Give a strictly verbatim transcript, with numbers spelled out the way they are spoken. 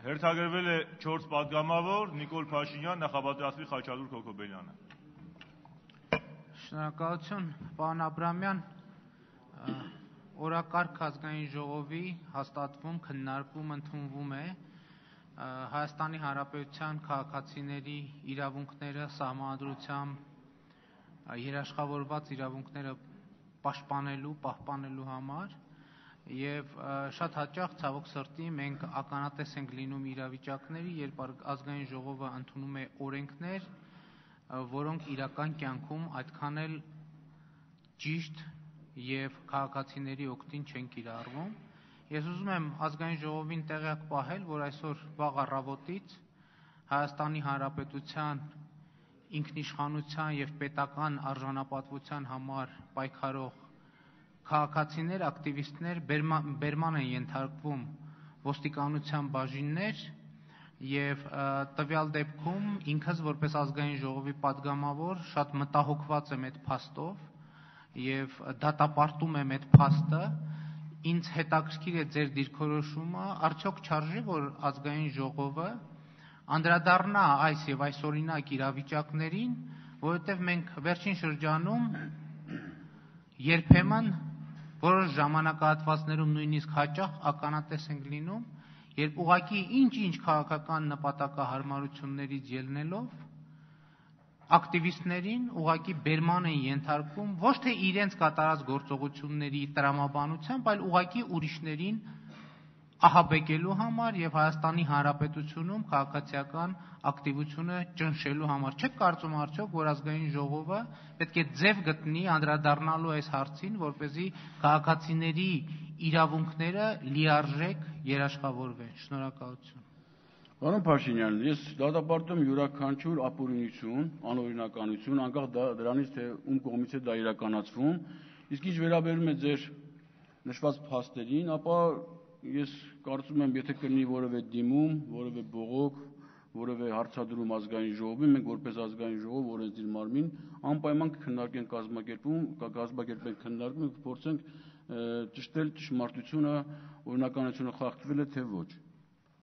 Հերթագրվել է չորս պատգամավոր, Նիկոլ Փաշինյան, նախապատրաստվի Խաչատուր Քոքոբելյանը։ Շնորհակալություն, պարոն Աբրամյան, օրակարգ ազգային ժողովի հաստատվում, քննարկվում, ընդունվում է Հայաստանի Հանրապետության քաղաքացիների իրավունքները սահմանադրությամբ երաշխավորված իրավունքները պաշտպանելու, պահպանելու համար եւ շատ հաճախ ցավոք սրտի մենք ականատես ենք լինում իրավիճակների, երբ ազգային ժողովը ընդունում է օրենքներ, որոնք իրական կյանքում այդքան էլ ճիշտ եւ քաղաքացիների օգտին չեն կիրառվում։ Ես ուզում եմ ազգային ժողովին տեղյակ պահել, որ այսօր վաղ առավոտից Հայաստանի Հանրապետության ինքնիշխանության եւ պետական արժանապատվության համար պայքարող քաղաքացիներ, ակտիվիստներ բերման են ենթարկվում ոստիկանության բաժիններ եւ տվյալ դեպքում ինքս որպես ազգային ժողովի պատգամավոր շատ մտահոգված եմ այդ փաստով եւ դատապարտում եմ այդ փաստը։ Ինձ հետաքրքիր է ձեր դիրքորոշումը, արդյոք չարժե որ ազգային ժողովը անդրադառնա այս եւ այսօրինակ իրավիճակներին, որովհետեւ մենք վերջին շրջանում երբեմն որոշ ժամանակահատվածներում նույնիսկ հաճախ ականատես ենք լինում, երբ ուղղակի ինչ-ինչ քաղաքական նպատակահարմարություններից ելնելով ակտիվիստներին ուղղակի բերման են ենթարկվում ոչ թե իրենց կատարած գործողությունների տրամաբանությամբ, այլ ուղղակի ուրիշներին ահաբեկելու համար եւ Հայաստանի Հանրապետությունում քաղաքացիական ակտիվությունը ճնշելու համար։ Չեք կարծում արդյոք, որ ազգային ժողովը պետք է ձև գտնի անդրադառնալու այս հարցին, որպեսզի քաղաքացիների իրավունքները լիարժեք երաշխավորվեն։ Շնորհակալություն։ Պարոն Փաշինյան, ես դատապարտում յուրաքանչյուր ապօրինություն, անօրինականություն, անկախ դրանից, թե ում կողմից է դա իրականացվում, իսկ ինչ վերաբերում է ձեր նշված փաստերին, ապա ես կարծում եմ, եթե կլինի որևէ դիմում, որևէ բողոք, որևէ հարցադրում ազգային ժողովին, մենք որպես ազգային ժողով, օրենսդիր մարմին, անպայման կքննարկենք կազմակերպում, կկազմակերպենք քննարկում, կփորձենք ճշտել ճշմարտությունը, օրինականությունը խախտվել է թե ոչ։